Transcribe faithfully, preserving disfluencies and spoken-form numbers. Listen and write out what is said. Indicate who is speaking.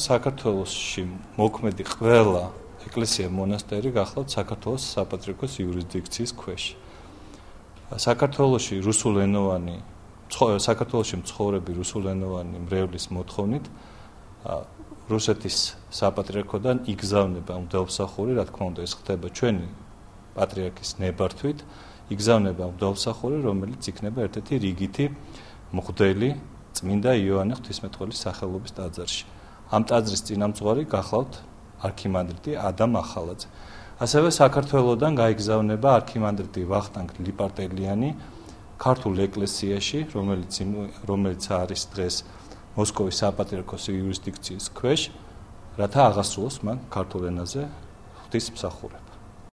Speaker 1: საქართველოში მოქმედი ყველა ეკლესია მონასტერი გახლავთ საქართველოს საპატრიარქოს იურისდიქციის ქვეშ. საქართველოში რუსულენოვანი საქართველოში მცხოვრები რუსულენოვანი მრევლის მოთხოვნით რუსეთის საპატრიარქოდან იგზავნება მღვდელმსახური, რა თქმა უნდა, ეს ხდება ჩვენი პატრიარქის ნებართვით, იგზავნება მღვდელმსახური, რომელიც იქნება ერთ-ერთი რიგითი მღვდელი წმინდა იოანე ღვთისმეტყველის სახელობის ტაძარში. ამ ტაძრის წინამძღვარი გახლავთ არქიმანდრიტი ადამ ახალაძე. ასევე საქართველოსდან გაიგზავნება არქიმანდრიტი ვახტანგ ლიპარტელიანი ქართულ ეკლესიაში, რომელიც რომელიც არის დღეს მოსკოვის საპატრიარქოს იურისდიქციის ქვეშ, რათა აღასრულოს მან ქართულ ენაზე ღვთისმსახურება.